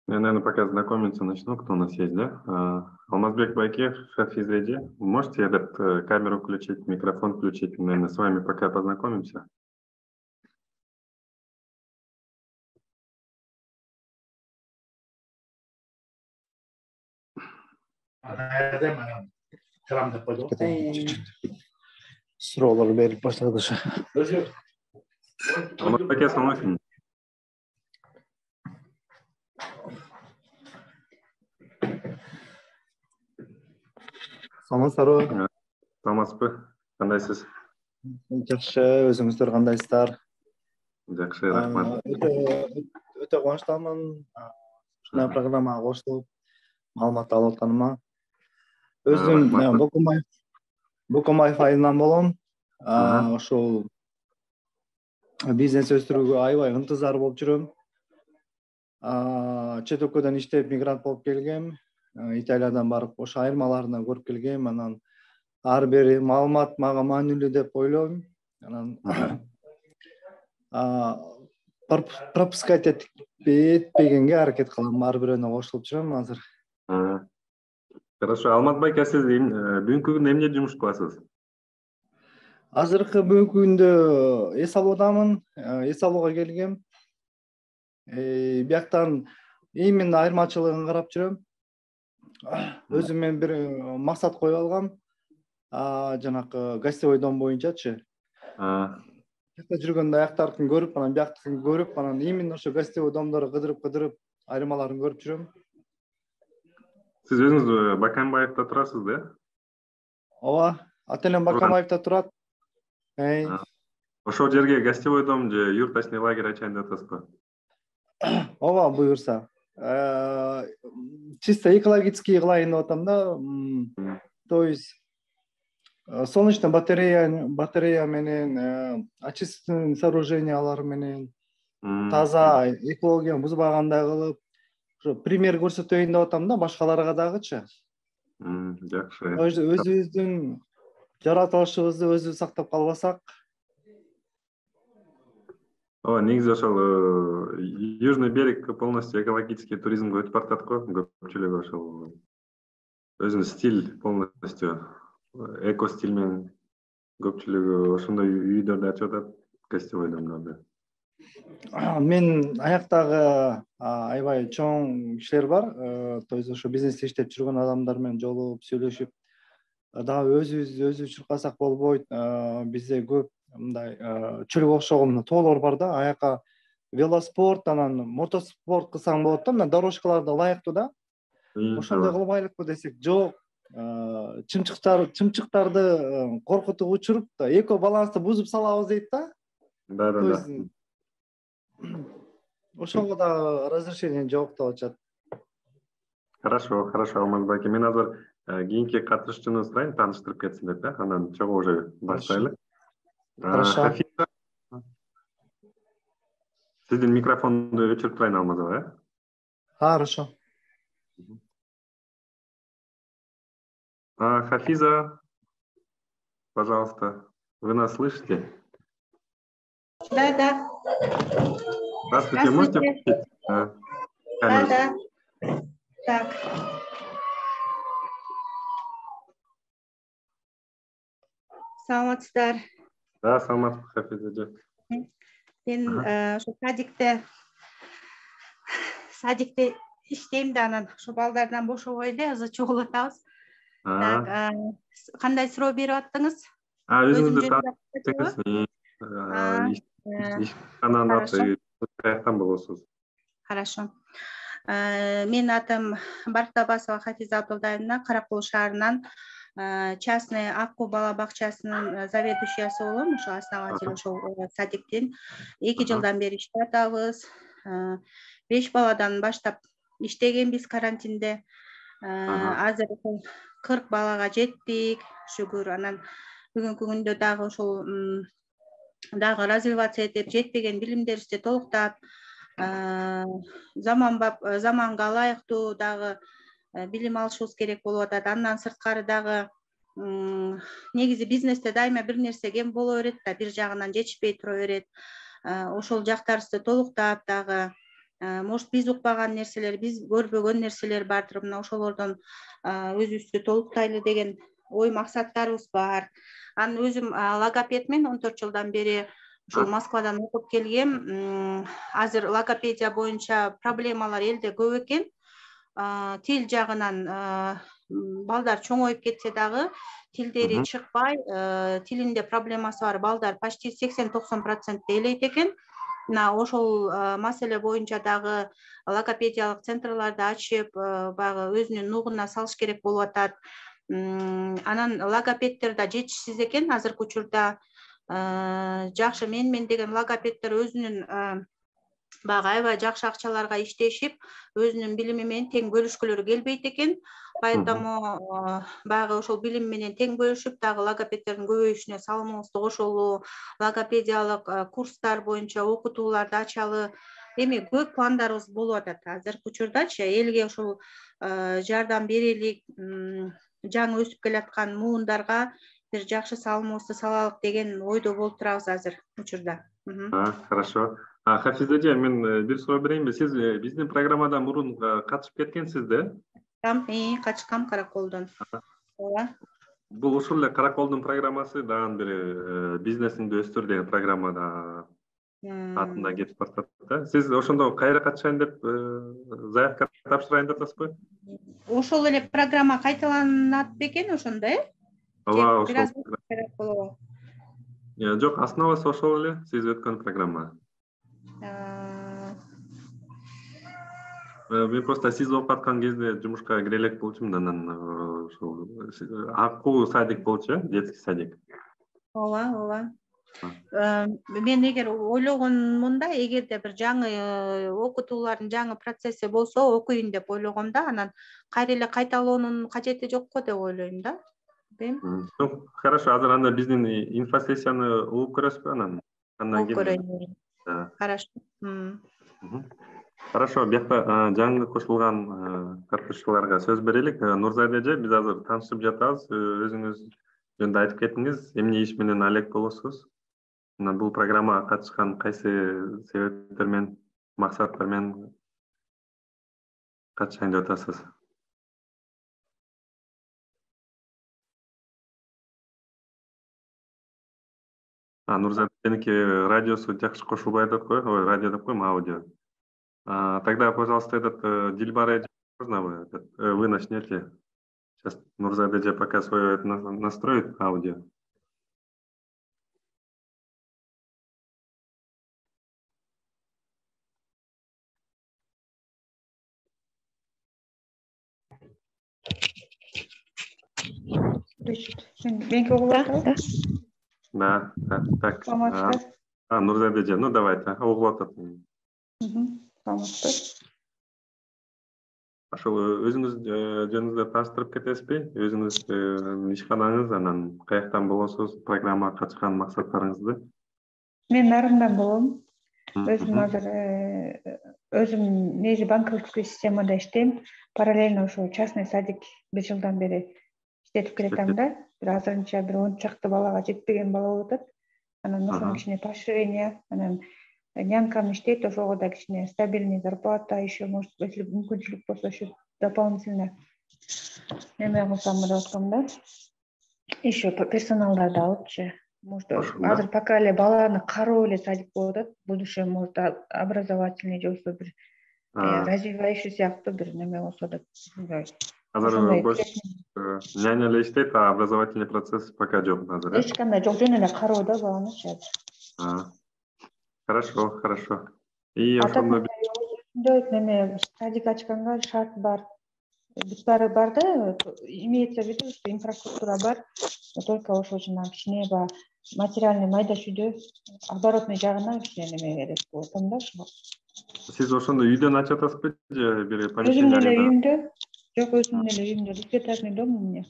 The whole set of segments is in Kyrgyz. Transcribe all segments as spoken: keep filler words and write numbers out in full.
Я, наверное, пока знакомиться начну, кто у нас есть, да? А, Алмазбек Байкев, Хафиз Эди. Можете этот э, камеру включить, микрофон включить? Наверное, с вами пока познакомимся. Суроолор берип баштады. Алмазбек, ассалам алейкум. Саламатсыздарбы? Саламатсызбы? Кандайсыз? Жакшы, өзүңүздөр кандайсыздар? Жакшы, рахмат. Өтө кубанычтамын. Ушундай программага кошулуп, маалымат алып атканыма. Өзүм Бокомай Бокомаев айылынан болом. Ошол бизнес өстүрүүгө аябай ынтызар болуп жүрөм. Чет өлкөдөн иштеп мигрант болуп келгем. Италиядан барып ошо айырмаларына көрүп келгем. Анан ар бир маалымат мага маанилүү деп ойлойм. Анан пропускать этпегенге аракет кылам. Ар бирөөнө кошулуп жүрөм азыр. Хорошо. Алмазбек, сиз бүгүнкү күндө эмне жумуш кыласыз? Азыркы бүгүнкү күндө эс алуудамын. Эс алууга келгем. Бияктан именно айырмачылыгын карап жүрөм. Өзүм мен бир максат коюп алгам. Жанакы гостевой дом боюнчачы. Бияқта жүргөндө аяктардыкын көрүп, анан бияктыкын көрүп, анан именно ошо гостевой домдорду кыдырып-кыдырып айырмаларын көрүп жүрөм. Сиз өзүңүз Бакамбаевда турасыз, да? Ооба, ата-энем Бакамбаевда турат. Ошол жерге гостевой дом же юрточный лагерь ачайын деп атасызбы? Ооба, буюрса. Чисто экологический кылайын деп атам да. То есть солнечный батарея батарея менен, очистительный сооружениялар менен таза экологияны бузбагандай кылып, ошо пример көрсөтөйүн деп атам да башкаларга дагычы. Жакшы. Өзүбүздүн жаратылышыбызды өзүбүз сактап калбасак. Ооба, негизи ошол Южный берег полностью экологический туризмге өтүп баратат го. Көпчүлүгү ошол өзүнүн стиль полностью эко стиль менен көпчүлүгү ошондой үйдөрдү ачып атат, гостевой домдорду. Мен аяктагы аябай чоң кишилер бар. То есть ошо бизнесте иштеп жүргөн адамдар менен жолугуп, сүйлөшүп, дагы өзүбүз өзүбүз чуркасак болбойт. Бизде көп мындай чөлгө окшогон тоолор бар да. Аякка велоспорт, анан мотоспорт кылсаң болот да. Мына дорожкалар да ылайыктуу да. Ошондой кылбайлыкпы десек, жок. Чымчыктар, чымчыктарды коркутуп учуруп, эко балансты бузуп салабыз дейт да. Да, да, да. Ошого да разрешение жок деп атышат. Хорошо, хорошо, Алмазбек. Мен азыр кийинки катышуучуну сурайын, тааныштырып кетсин деп, да. Анан чогуу уже баштайлы. Хорошо. Сиздин микрофонду өчүрүп турайын, Алмазбек, э? Хорошо. Хафиза, пожалуйста, вы нас слышите? Да, да. Здравствуйте, можете включить камеру? Да, да. Так. Саламатсыздар. Да, саламатсыз, Хафиза. Мен ошо садикте садикте иштейм да, анан ошо балдардан бошобой эле азыр чогулуп атабыз. Так, кандай суроо берип аттыңыз? Өзүңүздү тааныштырыңыз. Каяктан болосуз? Хорошо. Менин атым Барктабасова Хафиза Абдулдаевна, Каракол шаарынан частный Акку бала бакчасынын заведующиясы болом, ошо основатель ошол садиктин. эки жылдан бери иштеп атабыз. беш баладан баштап иштегенбиз карантинде. Азыр кырк балага жеттик, шүгүр. Анан бүгүнкү күндө дагы ошол дагы развиваться этип, жетпеген билимдерибизди толуктап, заманбап заманга ылайыктуу дагы билим алышыбыз керек болуп атат. Андан сырткары дагы негизи бизнесте дайыма бир нерсе кем боло берет да, бир жагынан жетишпей тура берет. Ошол жактарыбызды толуктап дагы может биз укпаган нерселер, биз көрбөгөн нерселер бардыр. Мына ошолордон өзүбүздү толуктайлы деген ой максаттарыбыз бар. Анан өзүм логопедмен он төрт жылдан бери ушул Москвадан окуп келгем. Азыр логопедия боюнча проблемалар элде көп экен. Тил жагынан балдар чоңоюп кетсе дагы тилдери чыкпай, тилинде проблемасы бар балдар почти сексен токсон процентте элейт экен. Мына ошол маселе боюнча дагы логопедиялык центрларды ачып, баягы өзүнүн нугуна салыш керек болуп атат. Анан логопедтер да жетишсиз экен азыркы учурда. Жакшы менмен деген логопедтер өзүнүн баягы аябай жакшы акчаларга иштешип, өзүнүн билими менен тең бөлүшкүлөрү келбейт экен. Поэтому баягы ошол билим менен тең бөлүшүп, дагы логопедтердин көбөйүшүнө салымыбызды кошолу, логопедиялык курстар боюнча окутууларды ачалы. Эми көп пландарыбыз болуп атат. Азыркы учурдачы элге ошол жардам берелик, жаңы өсүп келаткан муундарга бир жакшы салымыбызды салалык деген ойдо болуп турабыз азыр учурда. Хорошо. Хафиз эже, мен бир суроо берейинби? Сиз биздин программадан мурун катышып кеткенсиз да? Качкам Караколдон. Ооба. Бул ушул эле Караколдун программасы, дагы бир бизнесиңди өстүр деген программада атында кетип баратат да. Сиз ошондо кайра катышайын деп заявка тапшырайын деп атасызбы? Ошол эле программа кайталанат бекен ошондо, э? Ооба, ошол. Жок, основасы ошол эле, сиз өткөн программа. Мен просто сиз окуп аткан кезде жумушка кире элек болчумун, анан ошол акуу садик болчу, э, детский садик. Ооба, ооба. Мен эгер ойлогонмун да, эгерде бир жаңы окутуулардын жаңы процесси болсо окуйн деп ойлогом да, анан кайра эле кайталоонун кажети жок го деп ойлойм да. Ну, хорошо, азыр анда биздин инфосессияны угуп көрөсүзбү анан? Угуп көрөйүн. Хорошо. Хорошо, биякта жаңы кошулган катышуучуларга сөз берелик. Нурзайда эже, биз азыр таанышып жатабыз. Өзүңүз жөнүндө айтып кетиңиз, эмне иш менен алек болосуз? Мына бул программага катышкан кайсы себептер менен, максаттар менен катышайын деп атасыз? Нурзайда эженики радиосу жакшы кошулбай атат го, ой, радио деп коем, аудио. Тогда, пожалуйста, этот Дильбара, можно вы, вы начнете? Сейчас Нурзайда эже пока свое настроит аудио. Да, да, так. А, Нурзайда эже, ну давайте, угулуп атат. Ошол өзүңүз жөнүңүздү тааныштырып кетесизби? Өзүңүз ишканаңыз, анан каяктан болосуз, программага катышкан максаттарыңызды? Мен Нарымдан болом. Өзүм азыр өзүм негизи банковский системада иштейм. Параллельно ошо частный садик бир жылдан бери иштетип келатам да. Бир азырынча бир он чакты балага жетпеген бала болуп атат. Анан ошону кичине поощрение, анан нямкам иштейт, ошого да кичине стабильный зарплата, еще может если мүмкүнчүлүк болсо еще дополнительно эме кылсам деп аткам да. Еще персоналдарды алыпчы. Может азыр пока эле баланы кароо эле садик болуп атат. Будущее может образовательный же болсо бир развивающий сыяктуу бир неме болсо деп. Азыр бош няня эле иштейт, а образовательный процесс пока жок азыр, э? Эч кандай жок, жөн эле кароо да баланычы азыр. Хорошо, хорошо. И ошондо неме садик ачканга шарт бар. Бүт баары бар да, имеется в виду, что инфраструктура бар. Только ошол жанагы кичине баягы материальный майда чүйдө оборотный жагына кичине неме керек болуп атам да ошого. Сиз ошондо үйдөн ачып атасызбы же бир помещение? Өзүмдүн эле үйүмдө. Жок, өзүмдүн эле үйүмдө. Двухэтажный дом у меня.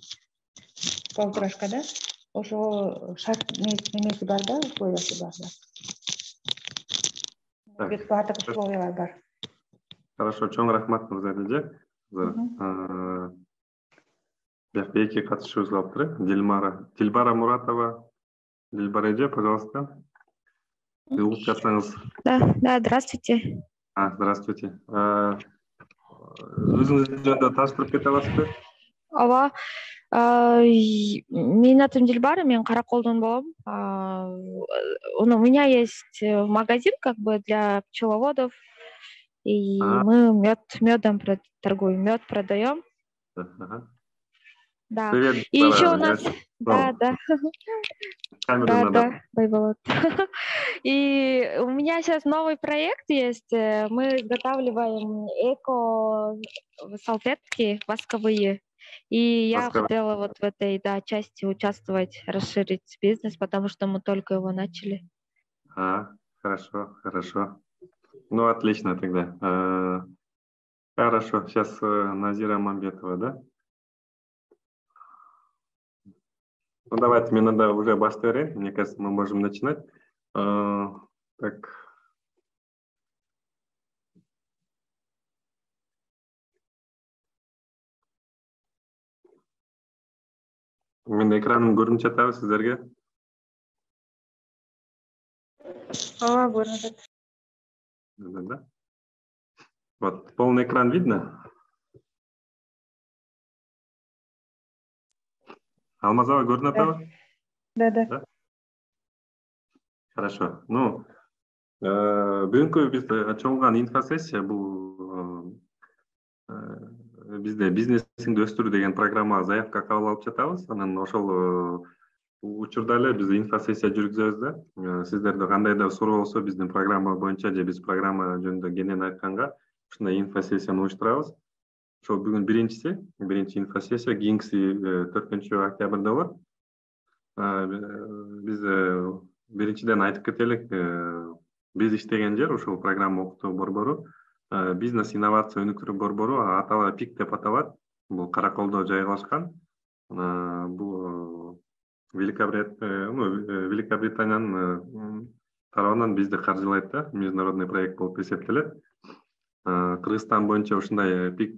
Полторашкада. Ошого шарт немеси бар да, условиясы бар да. Бүт баардык условиялар бар. Хорошо, чоң рахмат Нурзайда эже. Биякта эки катышуучубуз калыптыр. Дилмара, Дилбара Муратова. Дилбара эже, пожалуйста. Угуп жатсаңыз. Да, да, здравствуйте. А, здравствуйте. Өзүңүз жөнүндө тааныштырып кете аласызбы? Ооба. Менин атым Дилбар, мен Караколдон болом. У меня есть магазин как бы для пчеловодов, и мы мед медом торгуем, мед продаем. Да. Привет. И еще у нас, да, да, да, да, Байболот. И у меня сейчас новый проект есть. Мы изготавливаем эко-салфетки восковые. И я хотела вот в этой, да, части участвовать, расширить бизнес, потому что мы только его начали. А, хорошо, хорошо. Ну, отлично тогда. А, хорошо. Сейчас Назира Мамбетова, да? Ну, давайте, мне надо уже баштай берейин. Мне кажется, мы можем начинать. А, так. Мен экранымды көрүнүп жатабы сиздерге? Ооба, көрүнүп жатат. Да, да. Вот, полный экран видно? Алмазова көрүнүп атабы? Да, да. Хорошо. Ну, бүгүнкү биз чогулган инфосессия бул бизде бизнесиңди өстүр деген программага заявка кабыл алып жатабыз. Анан ошол учурда эле биз инфосессия жүргүзөбүз да. Сиздерде кандайдыр суроо болсо биздин программа боюнча же биз программа жөнүндө кенен айтканга ушундай инфосессияны уюштурабыз. Ошол бүгүн биринчиси, биринчи инфосессия, кийинкиси төртүнчү октябрда болот. Биз биринчиден айтып кетелик, биз иштеген жер ушул программа окутуу борбору, бизнес инновация өнүктүрүү борбору, атала пик деп аталат. Бул Караколдо жайгашкан. Бул Великобританиянын тарабынан бизди каржылайт да, международный проект болуп эсептелет. Кыргызстан боюнча ушундай пик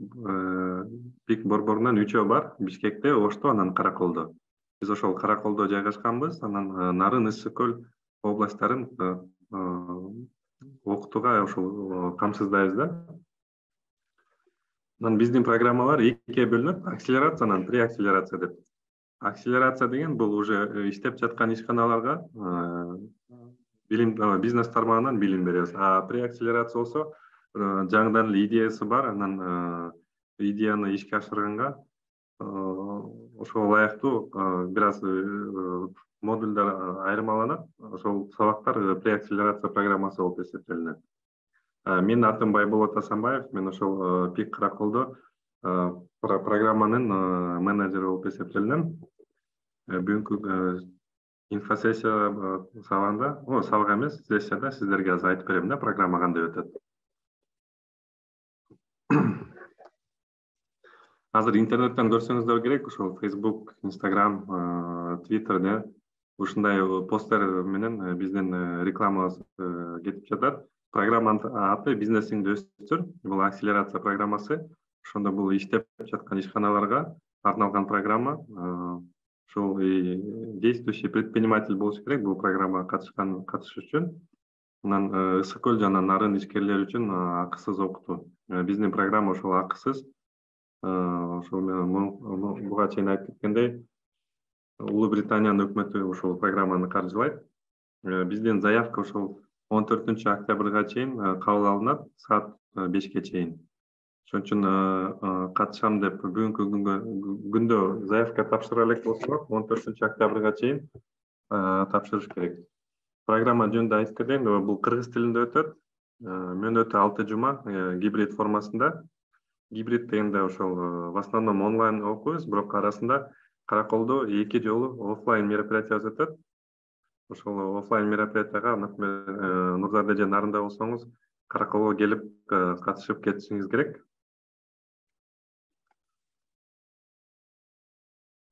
пик борборунан үчөө бар, Бишкекте, Ошто, анан Караколдо. Биз ошол Караколдо жайгашканбыз, анан Нарын, Ысык көл областтарын окутууга ошол камсыздайбыз да. Анан биздин программалар экиге бөлүнөт, акселерация анан преакселерация деп. Акселерация деген бул уже иштеп жаткан ишканаларга билим, бизнес тармагынан билим беребиз. А преакселерация болсо жаңыдан эле идеясы бар, анан идеяны ишке ашырганга ошого ылайыктуу бир аз модульдар айырмаланат. Ошол сабактар преакселерация программасы болуп эсептелинет. Менин атым Байболот Асанбаев, мен ошол пик Караколдо программанын менеджери болуп эсептелинем. Бүгүнкү инфосессия сабагында, о, сабак эмес, сессияда сиздерге азыр айтып берем да, программа кандай өтөт. Азыр интернеттен көрсөңүздөр керек, ошол Facebook, Instagram, Twitterде ушундай посттер менен биздин рекламабыз кетип жатат. Программанын аты бизнесиңди өстүр. Бул акселерация программасы. Ошондо бул иштеп жаткан ишканаларга арналган программа. Ошол действующий предприниматель болуш керек бул программага катышкан катышыш үчүн. Анан Ысык көл жана Нарын ишкерлери үчүн акысыз окутуу. Биздин программа ошол акысыз. Ошол буга чейин айтып кеткендей, Улуу Британиянын өкмөтү ошол программаны каржылайт. Биздин заявка ошол он төртүнчү октябрга чейин кабыл алынат, саат бешке чейин. Ошон үчүн катышам деп бүгүнкү күндө заявка тапшыра элек болсо, он төртүнчү октябрга чейин тапшырыш керек. Программа жөнүндө айтып кетейин, бул кыргыз тилинде өтөт. Мөөнөтү алты жума гибрид формасында. Гибрид дегенде ошол в основном онлайн окуйбуз, бирок арасында Караколдо эки жолу офлайн мероприятия өтөт. Ошол офлайн мероприятияга, например, Нурзарда же Нарында болсоңуз, Караколго келип катышып кетишиңиз керек.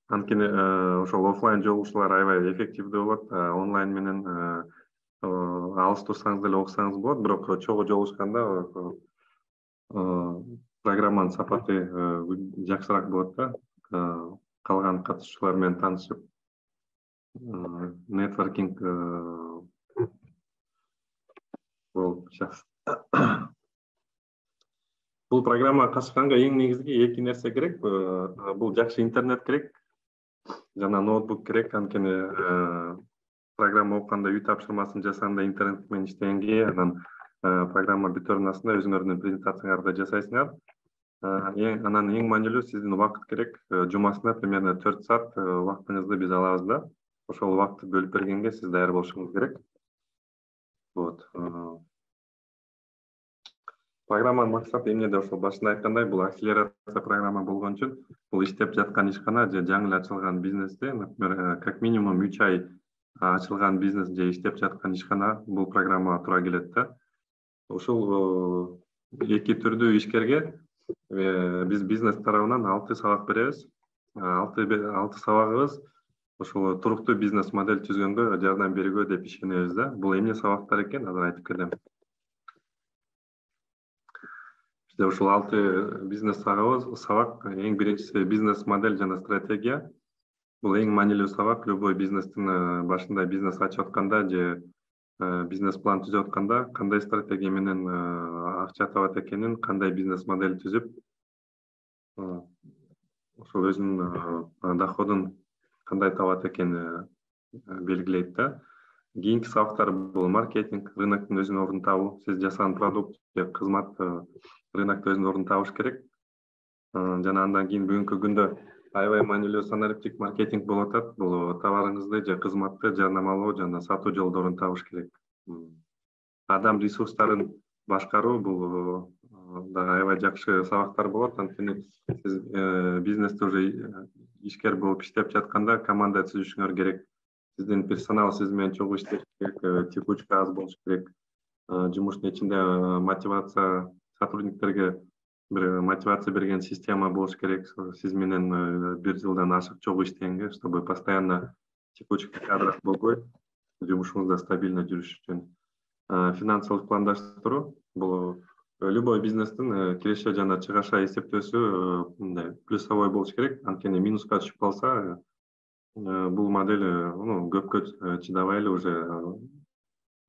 Анткени ошол офлайн жолугушуулар аябай эффективдүү болот, онлайн менен алыс турсаңыз деле окусаңыз болот, бирок чогуу жолугушканда программанын сапаты жакшыраак болот да. Калган катышуучулар менен таанышып, нетворкинг болуп Бул программага катышканга эң негизги эки нерсе керек. Бул жакшы интернет керек жана ноутбук керек. Анткени программа окуганда үй тапшырмасын жасаганда интернет менен иштегенге анан программа бүтөрүнүн астында өзүңөрдүн презентацияңарды жасайсыңар. Анан эң маанилүү сиздин убакыт керек. Жумасына примерно төрт саат убактыңызды биз алабыз да. Ошол убакытты бөлүп бергенге сиз даяр болушуңуз керек. Вот. Программанын максаты эмнеде? Ошол башында айткандай, бул акселерация программа болгон үчүн бул иштеп жаткан ишкана же жаңы эле ачылган бизнесте, например, как минимум үч ай ачылган бизнес же иштеп жаткан ишкана бул программага туура келет да. Ушул эки түрдүү ишкерге биз бизнес тарабынан алты сабак беребиз. алты сабагыбыз ошол туруктуу бизнес модель түзгөнгө жардам берүүгө деп ишенебиз да. Бул эмне сабактар экен, азыр айтып келем. Бизде ушул алты бизнес сабагыбыз, сабак эң биринчиси бизнес модель жана стратегия. Бул эң маанилүү сабак. Любой бизнестин башында бизнес ачып атканда же бизнес план түзүп атканда кандай стратегия менен акча табат экенин, кандай бизнес модель түзүп, ошол өзүнүн доходун кандай табат экенин белгилейт да. Кийинки сабактар бул маркетинг, рыноктун өзүнүн ордун табуу. Сиз жасаган продукт же кызмат рынокто өзүнүн ордун табыш керек. Жана андан кийин бүгүнкү күндө аябай маанилүү санариптик маркетинг болуп атат. Бул товарыңызды же кызматты жарнамалоо жана сатуу жолдорун табыш керек. Адам ресурстарын башкаруу бул дагы аябай жакшы сабактар болот. Анткени сиз бизнесте уже ишкер болуп иштеп жатканда команда түзүшүңөр керек. Сиздин персонал сиз менен чогуу иштеш керек, текучка аз болуш керек. Жумуштун ичинде мотивация, сотрудниктерге бир мотивация берген система болуш керек. Сиз менен бир жылдан ашык чогуу иштегенге, чтобы постоянно текучка кадров болбой, жумушуңузда стабильно жүрүш үчүн. Финансылык пландаштыруу бул любой бизнестин киреше жана чыгаша эсептөөсү мындай плюсовой болуш керек. Анткени минуска түшүп калса, бул модель көпкө чыдабай эле уже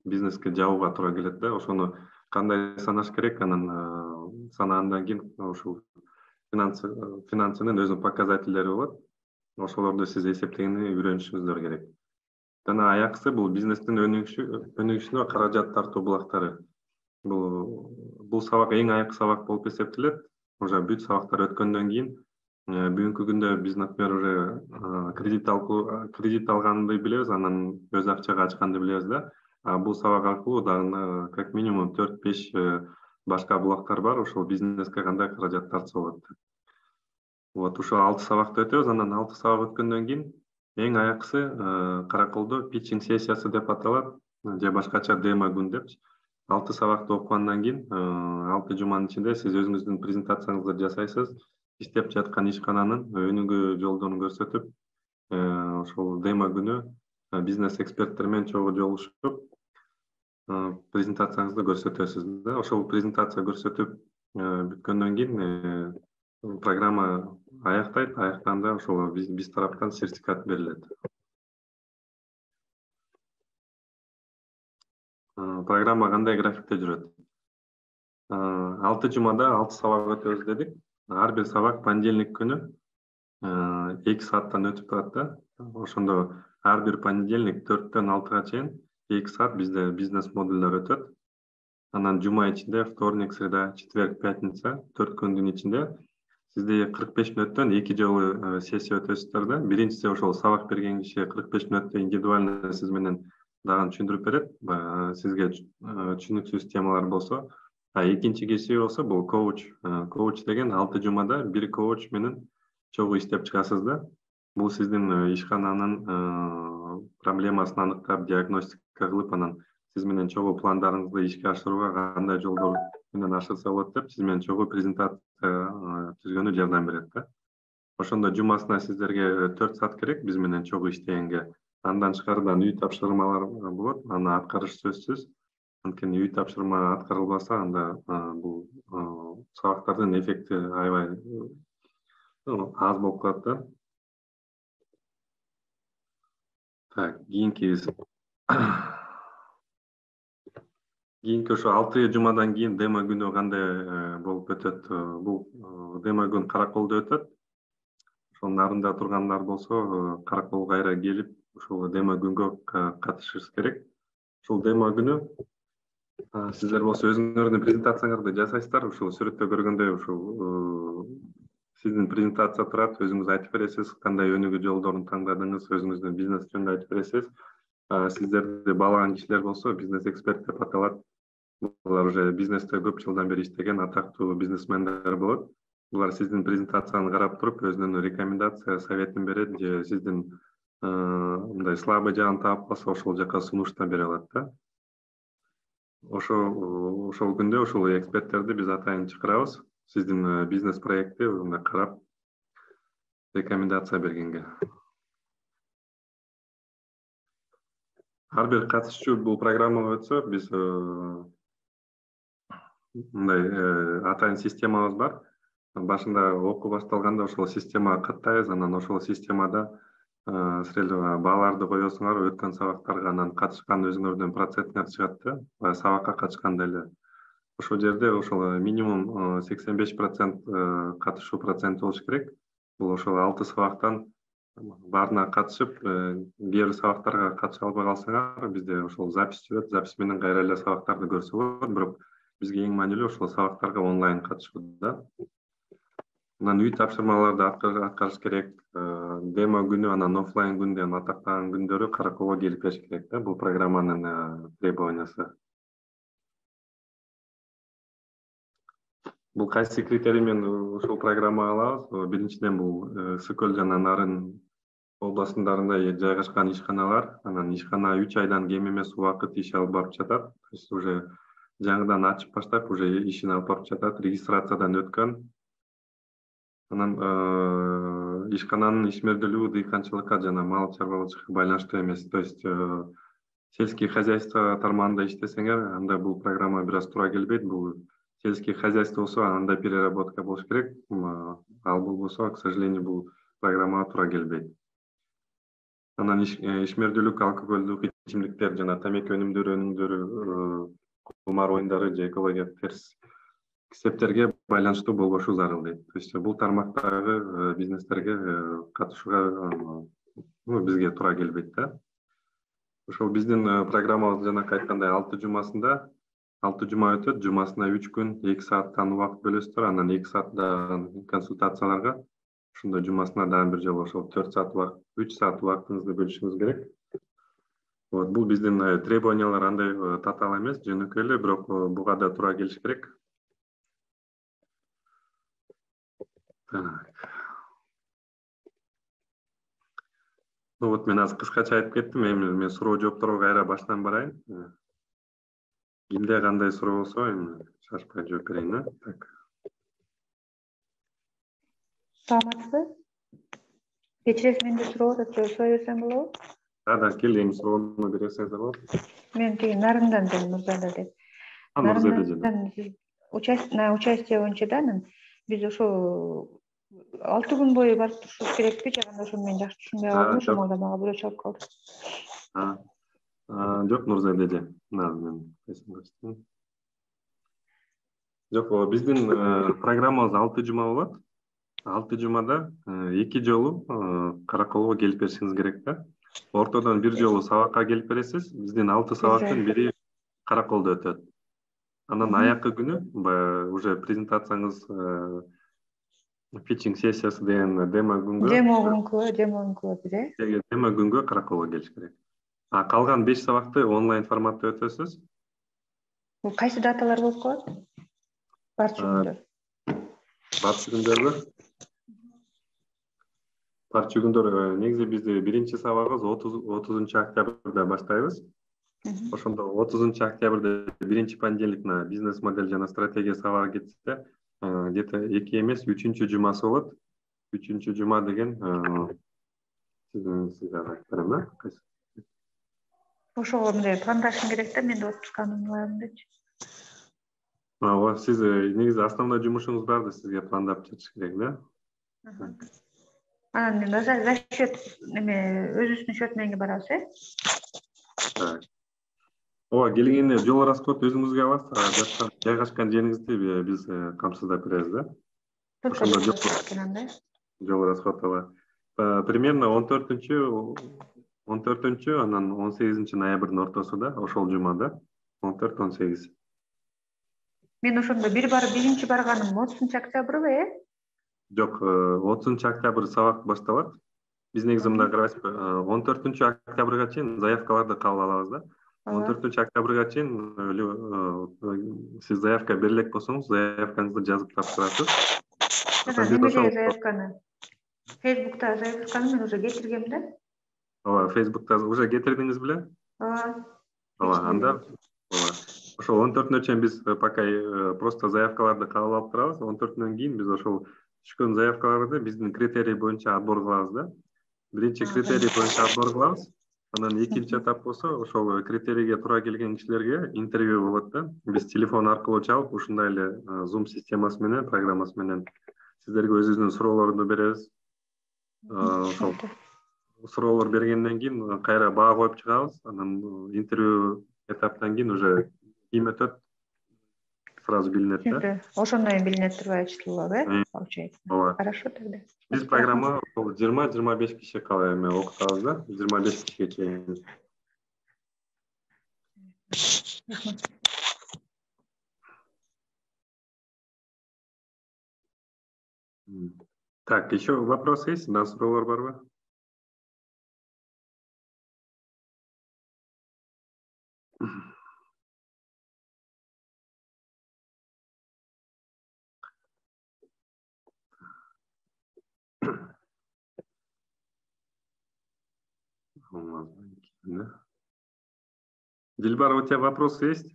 бизнеске жабууга туура келет да. Ошону кандай санаш керек, анан санагандан кийин ушул финансынын өзүнүн показательдери болот. Ошолорду сиз эсептегенди үйрөнүшүңүздөр керек. Жана аякысы бул бизнестин өнүгүшүнө каражат тартуу булактары. Бул бул сабак эң айкы сабак болуп эсептелет. Уже бүт сабактар өткөндөн кийин бүгүнкү күндө биз, например, уже кредит алуу, кредит алганды билебиз, анан өз акчага ачканды билебиз да. Бул сабак аркылуу дагы как минимум төрт беш башка булактар бар. Ошол бизнеске кандай каражат тартса болот. Вот ушул алты сабакты өтөбүз. Анан алты сабак өткөндөн кийин эң аякысы караколдо питчинг сессиясы деп аталат, же башкача демо күн деп. алты сабакты окугандан кийин алты жуманын ичинде сиз өзүңүздүн презентацияңызды жасайсыз. Иштеп жаткан ишкананын өнүгүү жолдорун көрсөтүп, ошол демо күнү бизнес эксперттер менен чогуу жолугушуп, презентацияңызды көрсөтөсүз да. Ошол презентация көрсөтүп бүткөндөн кийин программа аяктайт. Аяктаганда ошол биз тараптан сертификат берилет. Программа кандай графикте жүрөт? алты жумада алты сабак өтөбүз дедик. Ар бир сабак понедельник күнү эки сааттан өтүп турат да. Ошондо ар бир понедельник төрттөн алтыга чейин эки саат бизде бизнес модулдар өтөт. Анан жума ичинде вторник, среда, четверг, пятница төрт күндүн ичинде сизде кырк беш мүнөттөн эки жолу сессия өтөсүздөр да. Биринчиси ошол сабак берген киши кырк беш мүнөттө индивидуально сиз менен дагы түшүндүрүп берет. Сизге түшүнүксүз темалар болсо, экинчи киши болсо бул коуч. Коуч деген алты жумада бир коуч менен чогуу иштеп чыгасыз да. Бул сиздин ишкананын проблемасын аныктап, диагностика кылып, анан сиз менен чогуу пландарыңызды ишке ашырууга кандай жолдор менен ашырса болот деп сиз менен чогуу презентация түзгөнү жардам берет да. Ошондо жумасына сиздерге төрт саат керек биз менен чогуу иштегенге. Андан тышкарыдан үй тапшырмалар болот, аны аткарыш сөзсүз. Анткени үй тапшырма аткарылбаса, анда бул сабактардын эффекти аябай аз болуп калат да. Так, кийинки кийинки ошо алты жумадан кийин демо күнү кандай болуп өтөт? Бул демо күн Караколдо өтөт. Ошонун нарында тургандар болсо, Караколго кайра келип, ушул демо күнгө катышышыңыз керек. Ушул демо күнү сиздер болсо өзүңөрдүн презентацияңарды жасайсыздар. Ушул сүрөттө көргөндөй ушул сиздин презентация турат, өзүңүз айтып бересиз, кандай өнүгүү жолдорун тандадыңыз, өзүңүздүн бизнес жөнүндө айтып бересиз. Сиздерди баалаган кишилер болсо бизнес эксперт деп аталат. Булар уже бизнесте көп жылдан бери иштеген атактуу бизнесмендер болот. Булар сиздин презентацияны карап туруп, өзүнүн рекомендация, советин берет же сиздин мындай слабый жагын таап калса, ошол жака сунуш да бере алат да. Ошол ошол күндө ошол эксперттерди биз атайын чакырабыз. Сиздин бизнес проектти мындай карап рекомендация бергенге. Ар бир катышуучу бул программага өтсө, биз мындай атайын системабыз бар. Башында окуу башталганда ошол системага каттайбыз, анан ошол системада сиздер бааларды коесуңар, өткөн сабактарга, анан катышкан өзүңөрдүн проценттер чыгат да, сабакка катышканда эле. Ошол жерде ошол минимум сексен беш процент катышуу проценти болуш керек. Бул ошол алты сабактан баарына катышып, кээ бир сабактарга катыша албай калсаңар, бизде ошол запись жүрөт, запись менен кайра эле сабактарды көрсө болот, бирок бизге эң маанилүү ошол сабактарга онлайн катышуу да. Анан үй тапшырмаларды аткарыш керек. Демо күнү, анан офлайн күндө атактаган күндөрү Караколго келип бериш керек да. Бул программанын требованиясы. Бул кайсы критерий менен ушул программага алабыз? Биринчиден бул Ысык көл жана Нарын областындарында жайгашкан ишканалар, анан ишкана үч айдан кем эмес убакыт иш алып барып жатат. То есть уже жаңыдан ачып баштап, уже ишин алып барып жатат, регистрациядан өткөн. Анан ишкананын ишмердүүлүгү дыйканчылыкка жана мал чарбалоочулукка байланыштуу эмес. То есть сельский хозяйство тармагында иштесеңер, анда бул программа бир аз туура келбейт. Бул сельский хозяйство болсо, анда переработка болуш керек. Ал болбосо, к сожалению, бул программага туура келбейт. Анан ишмердүүлүк, алкоголдук ичимдиктер жана тамеки өнүмдөрү өнүмдөрү, кумар оюндары же экологияга терс кесептерге байланыштуу болбошу зарыл дейт. То есть бул тармактагы бизнестерге катышууга бизге туура келбейт да. Ошол биздин программабыз жанакы айткандай алты жумасында, алты жума өтөт, жумасына үч күн, эки сааттан убакыт бөлөсүздөр, анан эки сааттан консультацияларга, ошондо жумасына дагы бир жолу ошол төрт саат убакыт, үч саат убактыңызды бөлүшүңүз керек. Вот бул биздин требованиялар андай татаал эмес, жөнөкөй эле, бирок буга да туура келиш керек. Ну вот мен азыр кыскача айтып кеттим. Эми мен суроо жоопторго кайра баштан барайын. Кимде кандай суроо болсо, эми шашпай жооп берейин, а? Так. Саламатсызбы? Кечиресиз, менде суроо бар, сора берсем болобу? Да, да, кел, эми суроону бере берсеңиздер болот. Мен тиги Нарындан деле Нурзада деп. Нарындан сиз участие боюнча да, биз ошо алты күн бою барып турушубуз керекпи, же кандай? Ошону мен жакшы түшүнбөй калдым, ошол маалда мага бирөө чалып калды. Жок, Нурзада эже. Мен Жок, биздин программабыз алты жума болот. алты жумада эки жолу Караколго келип беришиңиз керек да. Ортодон бир жолу сабакка келип бересиз. Биздин алты сабактын бири Караколдо өтөт. Анан аяккы күнү уже презентацияңыз, питчинг сессиясы деген демо күнгө, демо күнгө, демо күнгө бир, демо күнгө Караколго келиш керек. А калган беш сабакты онлайн форматта өтөсүз. Бул кайсы даталар болуп калат? Барча күндөр. Барча күндөрбү? Барча күндөр негизи бизде биринчи сабагыбыз отузунчу октябрда баштайбыз. Ошондо отузунчу октябрда биринчи понедельникна бизнес модель жана стратегия сабагы кетсе, где-то эки эмес, үчүнчү жумасы болот. Үчүнчү жума деген сиздин сизге айтып берем да. Ошого мындай пландашым керек да, мен да отпусканы улайм депчи. Ооба, сиз негизи основной жумушуңуз барды, сизге пландап жатыш керек да. Анан за счет неме өзүбүздүн счет менен барабыз, э? ооба, келгенде жол расход өзүңүзгө аласыз, жаткан жайгашкан жериңизди биз камсыздап беребиз да. Только жол расход ооба. Примерно он төртүнчү он төртүнчү анан он сегизинчи ноябрдын ортосунда, ошол жумада он төрт он сегиз. Мен ошондо бир бар биринчи барганым отузунчу октябрбы, э? Жок, отузунчу октябрь сабак башталат. Биз негизи мындай карайбызбы, он төртүнчү октябрга чейин заявкаларды кабыл алабыз да. он төртүнчү октябрга чейин сиз заявка бере элек болсоңуз, заявкаңызды жазып тапшырасыз. Немеге заявканы? Фейсбукта заявканы мен уже кетиргем да. Ооба, Фейсбукта уже кетирдиңиз беле? Ооба. Ооба, анда ооба. Ошол он төртүнө чейин биз пока просто заявкаларды кабыл алып турабыз. он төртүнөн кийин биз ошол түшкөн заявкаларды биздин критерий боюнча отбор кылабыз да. Биринчи критерий боюнча отбор кылабыз. Анан экинчи этап болсо, ошол критерийге туура келген кишилерге интервью болот да. Биз телефон аркылуу чалып, ушундай эле Zoom системасы менен, программасы менен сиздерге өзүбүздүн суроолорду беребиз. Ошол суроолор бергенден кийин кайра баа коюп чыгабыз. Анан интервью этаптан кийин уже ким өтөт сразу билинет да. Ошондой менен билине турбай ачылып, э? Получается. Ооба. Хорошо тогда. Биз программа жыйырма жыйырма беш киши кала эме окутабыз да. жыйырма беш кишиге чейин. Так, еще вопросы есть? Да, суроолор барбы? Дильбар, у тебя вопросы есть?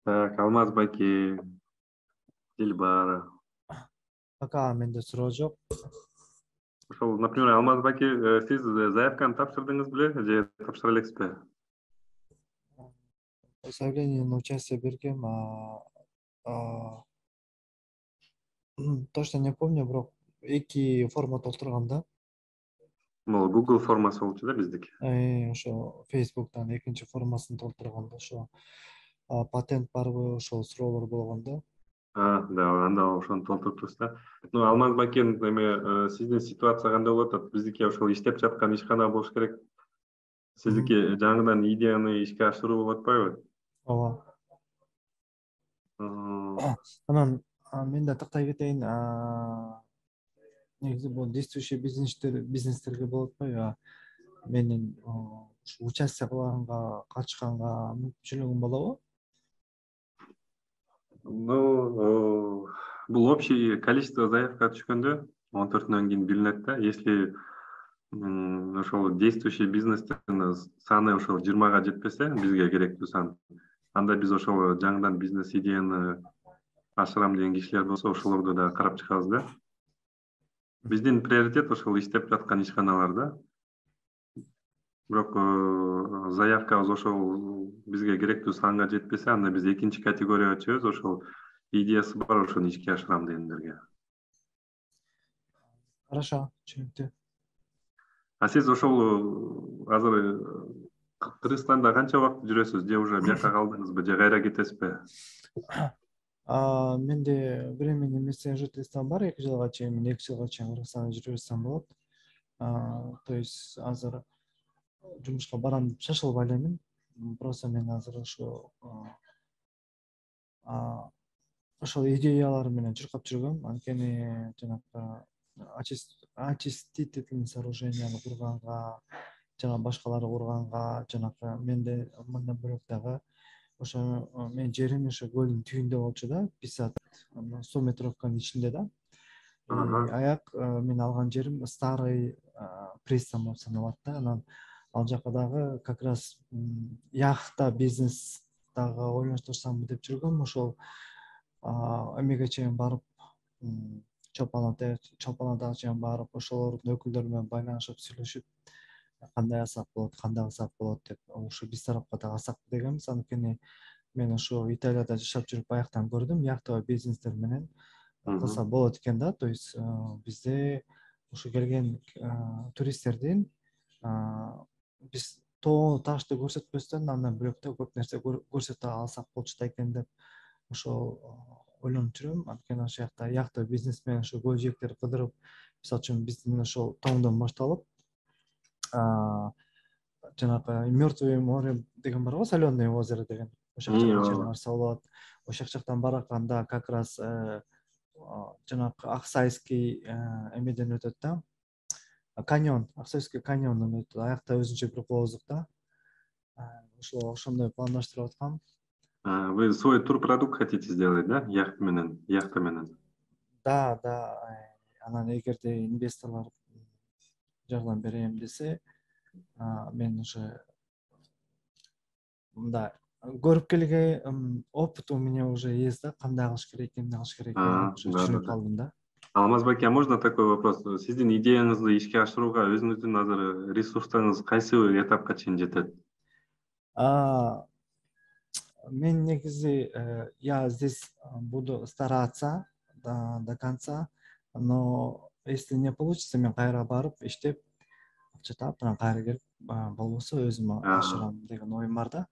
Так, Алмаз Байке, Дильбара. Пока менде суроо жок. Ошол, например, Алмаз Байке, сиз заявканы тапшырдыңыз беле же тапшыра элексизби? Заявление на участие бергем, точно не помню, бирок эки форма толтургам да. Могу Google формасы болчу да биздики. Ошо Facebooктан экинчи формасын толтурганда ошо патент барбы, ошол суроолор болгон да. А, да, анда ошону толтуруптуз да. Ну, Алмаз Байкен, эме сиздин ситуация кандай болуп атат? Биздики ошол иштеп жаткан ишкана болуш керек. Сиздики жаңыдан идеяны ишке ашыруу болуп атпайбы? Ооба. Анан мен да тактай кетейин, негизи бул действующий бизнестер бизнестерге болот атпайбы? Менин участие кылганга, катышканга мүмкүнчүлүгүм болобу? Ну, бул общий количество заявка түшкөндө он төртүнөн кийин билинет да. Если ошол действующий бизнестердин саны ошол жыйырмага жетпесе, бизге керектүү сан, анда биз ошол жаңыдан бизнес идеяны ашырам деген кишилер болсо, ошолорду да карап чыгабыз да. Биздин приоритет ошол иштеп жаткан ишканалар да. Бирок заявкабыз ошол бизге керектүү санга жетпесе, анда биз экинчи категорияга чыгабыз, ошол идеясы бар, ошону ишке ашырам дегендерге. Хорошо, түшүнүктүү. А сиз ошол азыр Кыргызстанда канча убакыт жүрөсүз? Же уже бияка калдыңызбы, же кайра кетесизби? Менде временный место жительства бар, эки жылга чейин, мен эки жылга чейин Кыргызстанда жүрө берсем болот. То есть азыр жумушка барам деп шашылбай элемин. Просто мен азыр ошо ошол идеялар менен чуркап жүргөм. Анткени жанагы очистительный сооруженияны курганга, жана башкалары курганга, жанагы менде мындан бөлөк дагы ошо менин жерим ошо көлдүн түбүндө болчу да, пятьдесят сто метровканын ичинде да. Аяк мен алган жерим старый пристань болуп саналат да. Анан ал жака дагы как раз яхта бизнес дагы ойлоштурсамбы деп жүргөм. Ошол эмеге чейин барып, Чолпон Ата Чолпон Атага чейин барып, ошолордун өкүлдөрү менен байланышып, сүйлөшүп, кандай алсак болот, кандай алсак болот деп ошо биз тарапка да алсак дегенбиз. Анткени мен ошо Италияда жашап жүрүп баяктан көрдүм, яктагы бизнестер менен кылса болот экен да. То есть бизде ошо келген туристтердин биз тоо ташты көрсөтпөстөн андан бөлөк да көп нерсе көрсөтө алсак болчу да экен деп ошол ойлонуп жүрөм. Анткени ошол жакта яктагы бизнес менен ошо көз жээктер кыдырып, мисалы үчүн биздин ошол тоңдон башталып жанагы Мертвое море деген барго, Соленое озеро деген. Ошол жакка чейин барса болот. Ошол жактан бараканда как раз жанагы Аксайский эмеден өтөт да. Каньон, Аксайский каньондон өтөт. Аякта өзүнчө бир кооздук да. Ошо ошондой пландаштырып аткам. Вы свой турпродукт хотите сделать, да? Яхта менен, яхта менен. Да, да. Анан эгерде инвесторлор жардам берем десе, мен уже мындай көрүп келген опыт у меня уже есть да, кандай кылыш керек, эмне кылыш керек экенин уже түшүнүп калдым да. Алмазбек, а можно такой вопрос? Сиздин идеяңызды ишке ашырууга өзүңүздүн азыр ресурстарыңыз кайсы этапка чейин жетет? Мен негизи я здесь буду стараться до конца, но если не получится, мен кайра барып иштеп акча таап, анан кайра келип болбосо өзүм ашырам деген оюм бар да.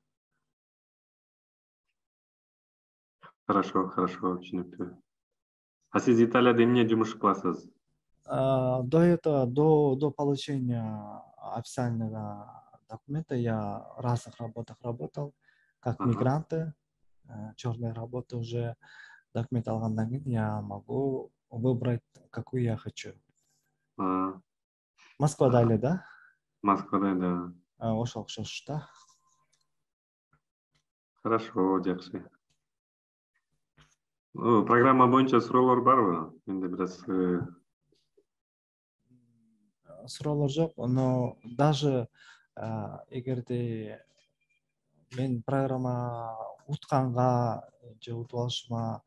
Хорошо, хорошо, түшүнүктүү. А сиз Италияда эмне жумуш кыласыз? До этого, до до получения официального документа я в разных работах работал, как мигранты, черные работы уже. Документ алгандан кийин я могу выбрать, какую я хочу. Москвада эле да? Москвада, да. Ошо окшош да. Хорошо, жакшы. Программа боюнча суроолор барбы? Менде бир аз суроолор жок, но даже эгерде мен программа утканга же утуп алышыма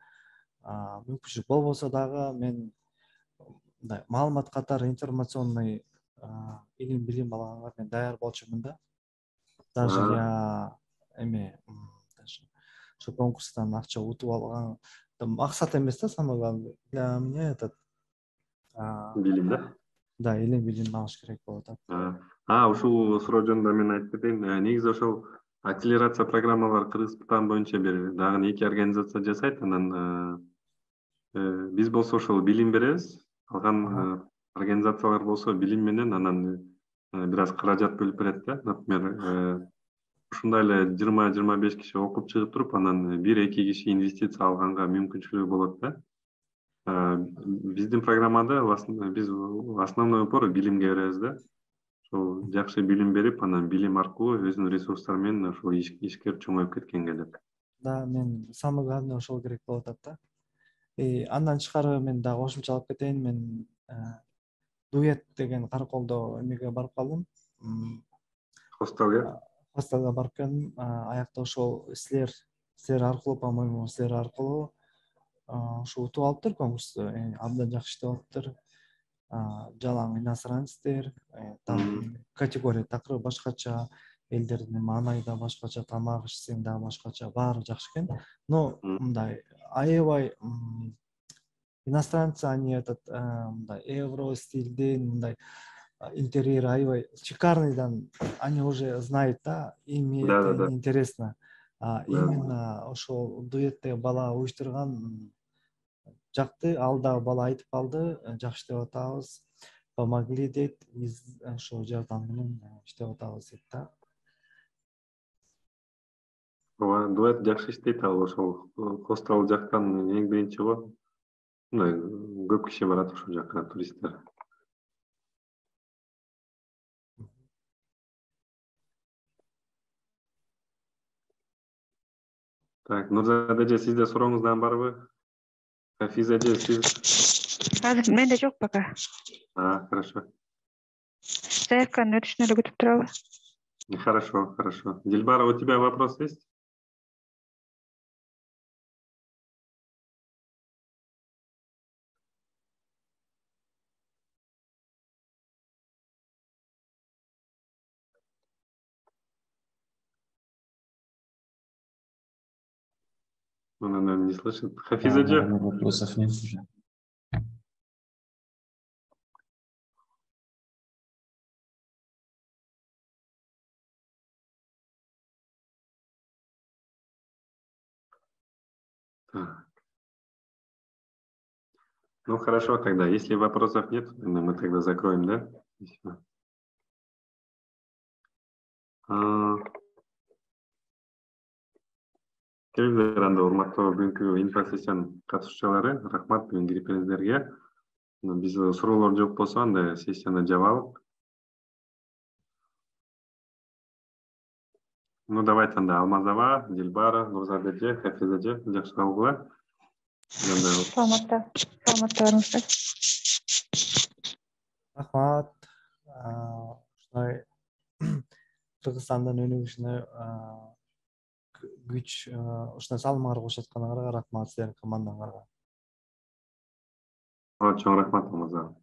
мүмкүнчүлүк болбосо дагы мен мындай маалымат катары информационный илим билим алганга мен даяр болчумун да. Даже я эме ошо конкурстан акча утуп алган максат эмес да, самое главное для меня этот билим да? Да, илим билим алыш керек болуп атат. А, ушул суроо жөнүндө мен айтып кетейин. Негизи ошол акселерация программалар Кыргызстан боюнча бир дагы эки организация жасайт. Анан биз болсо ошол билим беребиз. Калган организациялар болсо билим менен анан бир аз каражат бөлүп берет да. Например, ушундай эле жыйырма жыйырма беш киши окуп чыгып туруп, анан бир эки киши инвестиция алганга мүмкүнчүлүгү болот да. Биздин программада биз основной упор билимге беребиз да. Ошол жакшы билим берип, анан билим аркылуу өзүнүн ресурстары менен ошол ишкер чоңоюп кеткенге деп. Да, мен самое главное ошол керек болуп атат да. И андан тышкары мен дагы кошумча алып кетейин, мен дуэт деген Караколдо эмеге барып калдым. Хостелге? Хостелге барып келдим. Аякта ошол силер силер аркылуу, по-моему, силер аркылуу ошо утуп алыптыр конкурсту. Абдан жакшы иштеп алыптыр. Жалаң иностранецтер, категория такыр башкача, элдердин маанайы да башкача, тамак ишсең дагы башкача, баары жакшы экен. Но мындай аябай иностранцы, они этот мындай евро стилден мындай интерьер аябай шикарныйдан они уже знают, да, им это не интересно. Именно ошол дуэтте бала уюштурган жакты, ал дагы бала айтып калды, жакшы иштеп атабыз, помогли дейт, биз ошол жардам менен иштеп атабыз дейт да. Ооба, дуэт жакшы иштейт, ал ошол хостел жактан эң биринчи го. Мындай көп киши барат ошол жака, туристтер. Так, Нурзада эже, сизде сурооңуздан барбы? Хафиза эже, сиз? Азыр менде жок пока. А, хорошо. Заявканы өтүшүнө эле күтүп турабы? Хорошо, хорошо. Дилбара, у тебя вопрос есть? Он, наверное, не слышит. Хафиз эже. Вопросов нет уже. Так. Ну хорошо, тогда, если вопросов нет, мы тогда закроем, да? Келиңиздер анда урматтуу бүгүнкү инфосессиянын катышуучулары, рахмат бүгүн кирип Биз суроолор жок болсо анда сессияны жабалык. Ну давайте анда Алмазова, Дилбара, Нурзат эже, Хафиз эже, жакшы калгыла. Саламатта, саламаттарыңыздар. Рахмат. Ушундай Кыргызстандын өнүгүшүнө күч, ушундай салымыңар кошуп атканыңарга рахмат сиздердин командаңарга. Чоң рахмат Алмазова.